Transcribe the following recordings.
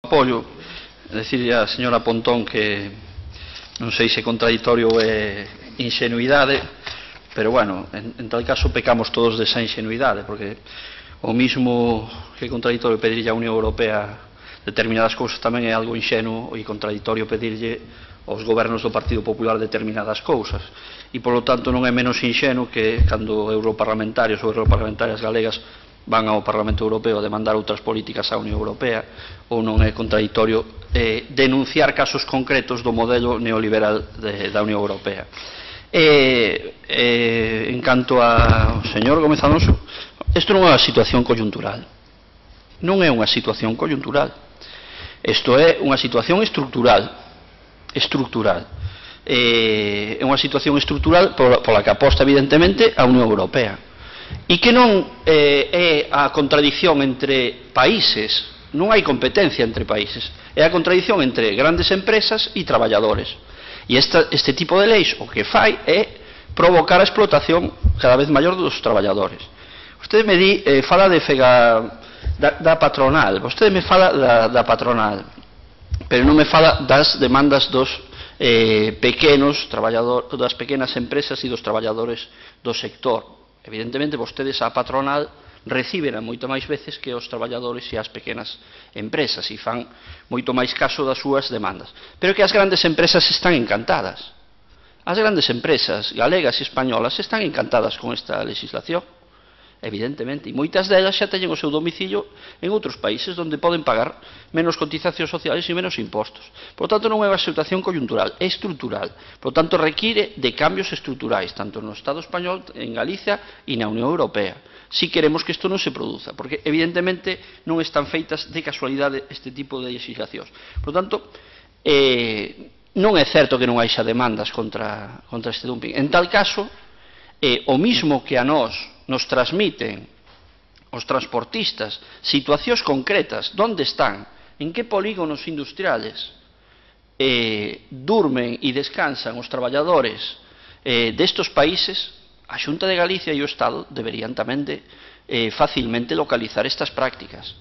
apoio. Decirle a señora Pontón que non sei se contradictorio é ingenuidade, pero bueno, en tal caso pecamos todos desa ingenuidade, porque o mismo que é contradictorio pedirlle á Unión Europea determinadas cousas tamén é algo inxenuo e contradictorio pedirlle aos gobernos do Partido Popular determinadas cousas, e polo tanto non é menos inxenuo que cando europarlamentarios ou europarlamentarias galegas van ao Parlamento Europeo a demandar outras políticas á Unión Europea, ou non é contradictorio denunciar casos concretos do modelo neoliberal da Unión Europea. En canto ao señor Gómez Alonso, isto non é unha situación coyuntural, non é unha situación coyuntural, isto é unha situación estructural. É unha situación estructural pola que aposta evidentemente a Unión Europea, e que non é a contradición entre países, non hai competencia entre países, é a contradición entre grandes empresas e traballadores, e este tipo de leis o que fai é provocar a explotación cada vez maior dos traballadores. Vostede me di, fala de da patronal, vostede me fala da patronal, pero non me fala das demandas dos pequenos traballadores, das pequenas empresas e dos traballadores do sector. Evidentemente, vostedes a patronal reciben moito máis veces que os traballadores e as pequenas empresas e fan moito máis caso das súas demandas. Pero que as grandes empresas están encantadas. As grandes empresas galegas e españolas están encantadas con esta legislación, evidentemente, e moitas delas xa teñen o seu domicilio en outros países onde poden pagar menos cotizacións sociales e menos impostos. Por tanto, non é unha situación coyuntural, é estrutural. Por tanto, require de cambios estruturais, tanto no Estado español, en Galicia e na Unión Europea, si queremos que isto non se produza, porque evidentemente non están feitas de casualidade este tipo de legislacións. Por tanto, non é certo que non haixa demandas contra este dumping. En tal caso, o mismo que a nós nos transmiten os transportistas situacións concretas, onde están, en que polígonos industriales durmen e descansan os traballadores destes países, a Xunta de Galicia e o Estado deberían tamén facilmente localizar estas prácticas.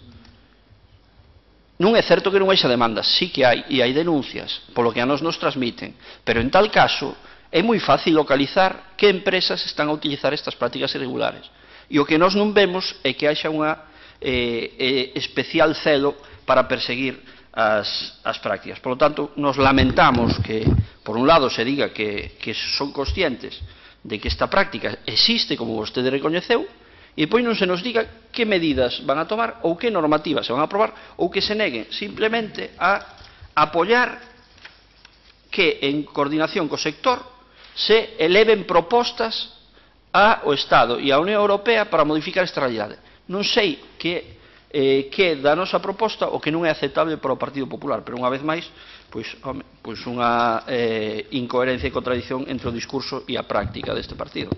Non é certo que non haixa demandas, sí que hai, e hai denuncias, polo que a nos transmiten, pero en tal caso é moi fácil localizar que empresas están a utilizar estas prácticas irregulares. E o que nós non vemos é que haxa unha especial celo para perseguir as prácticas. Por lo tanto, nos lamentamos que, por un lado, se diga que son conscientes de que esta práctica existe, como vostede recoñeceu, e depois non se nos diga que medidas van a tomar ou que normativas se van a aprobar ou que se neguen simplemente a apoiar que, en coordinación co sector, se eleven propostas ao Estado e á Unión Europea para modificar esta realidade. Non sei que da nosa proposta o que non é aceptable para o Partido Popular, pero unha vez máis, pois unha incoherencia e contradición entre o discurso e a práctica deste partido.